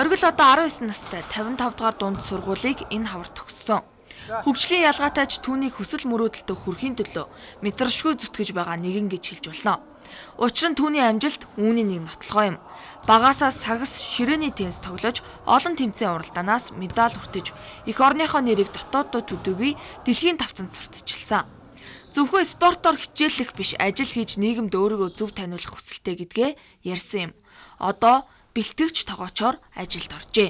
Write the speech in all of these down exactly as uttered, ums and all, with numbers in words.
Оргил одоо арван девять настай тавин тав дугаар дунд сургуулийг энэ хавар төгссөн. Хөгжлийн ялгаатай ч түүнийг хүсэл мөрөөдөлтөд хүрэхийн төлөө мэдрэмшгүй зүтгэж байгаа нэгэн гэж хэлж болно. Учир нь түүний амжилт үүний нэг нотлохоо юм. Багаасаа сагас ширээний теннис тоглож олон тэмцээн уралдаанаас медаль хүртэж эх орныхоо нэрийг дотооддоо төдөөгүй дэлхийн тавцанд сурталчилсан. Зөвхөн спортоор хичээллэх биш, ажил хийж нийгэмд өөрийгөө зөв таниулах хүсэлтэй гэдгээ ярьсан юм. Одоо бэлтгэгч тогоочоор ажилд оржээ.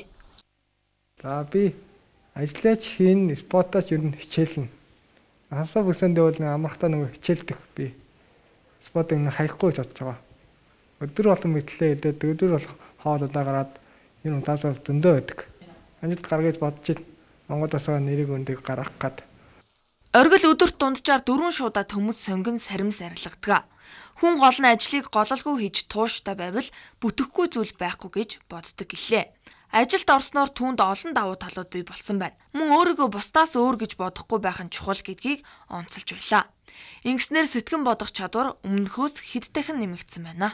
За би ажиллаач хийн, спортооч ер нь хичээлнэ. Хасаа бүсэндээ бол амрахтаа нэг хичээлдэх би. Спортыг хаяхгүй бодож байгаа. Өдөр болгон мэтлээ хэлээд өдөр болох хоолойдоо гараад энэ удаа зөндөө байдаг. Амжилт гаргаж бодож байна. Монголоос нэрийг өндөг гаргах гад. Оргил өдөрт дунджаар дөрвөн шуудаа төмөс сонгон саримс арилгадаг. Хүн гол нь ажлыг гололгүй хийж тууштай байвал бүтэхгүй зүйл байхгүй гэж боддог гэлээ. Ажилд орсноор түүнд олон давуу талууд бий болсон байна. Мөн өөрийгөө бусдаас өөр гэж бодохгүй байх нь чухал гэдгийг онцолж байлаа. Ингэснээр сэтгэн бодох чадвар өмнөхөөс хэд дахин нэмэгдсэн байна.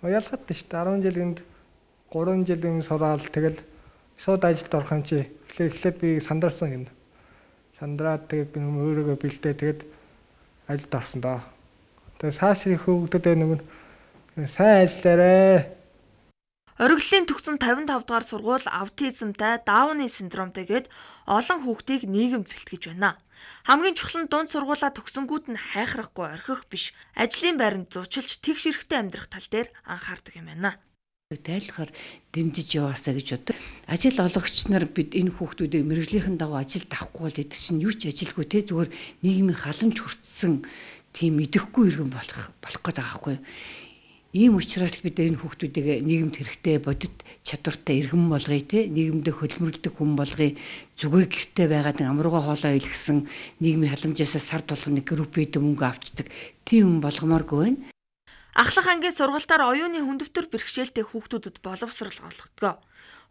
Ялгаатай шүү дээ. арван жилинд гурван жилийн сураал тэгэл шууд ажилд орох юм чи. Эхлээд би сандарсан юм. Сандраад тэгээд би өөрийгөө бэлдээ тэгээд ажилд орсон доо. Тэгээд цаашрын хөвгдөд нэг нь сайн ажиллаарэ. Оргилийн төгсөн тавин тав дугаар сургууль аутизмтай, Дауны синдромтой гээд олон хүүхдийг нийгэмд бэлтгэж байна. Хамгийн чухал нь дунд сургуулаа төгсөнгүүт нь хайхрахгүй орхих биш, ажлын байранд зуучилж тэгш эрэхтэй амьдрах тал дээр анхаардаг юм байна. Тайлхаар дэмжиж яваасаа гэж боддог. Ажил олгогч нар бид энэ хүүхдүүдийг мэрэгжлийнхэн дагуу ажилд авахгүй бол эд чинь юу ч ажилгүй те зүгээр нийгмийн халамж хүртсэн тийм идэхгүй иргэн болох болох гээд байгаа хгүй. Ийм учраас л бид энэ хүүхдүүдийг нийгэмд хэрэгтэй бодит чадвартай иргэн болгоё те нийгэмдээ хөлмөрлөдөг хүн болгоё зүгээр гэртээ байгаад амрууга хоолоо илгэсэн нийгмийн халамжаасаа сар болгоны группэд мөнгө авчдаг тийм хүн болгомооргүй байна. Ахлах ангийн сургалтаар оюуны хүндэвтэр бэрхшээлтэй хүүхдүүдэд боловсрол олгодог.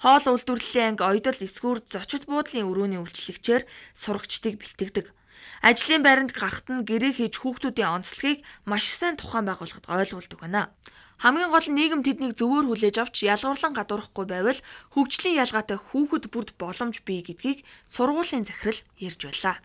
Хоол үйлдвэрлэлийн анги ойдол эсгүүр зочид буудлын өрөөний үйлчлэгчээр сурагчдыг бэлтгэдэг. Ажлын байранд гарахт нь гэрээ хийж хүүхдүүдийн онцлогийг маш сайн тухайн байгууллагад ойлгуулдаг байна. Хамгийн гол нь нийгэм тэднийг зөвөр хүлээж авч ялгуурлан гадуурхахгүй байвал хөгжлийн ялгаатай хүүхэд бүрд боломж бий гэдгийг сургуулийн захирал ярьж байлаа.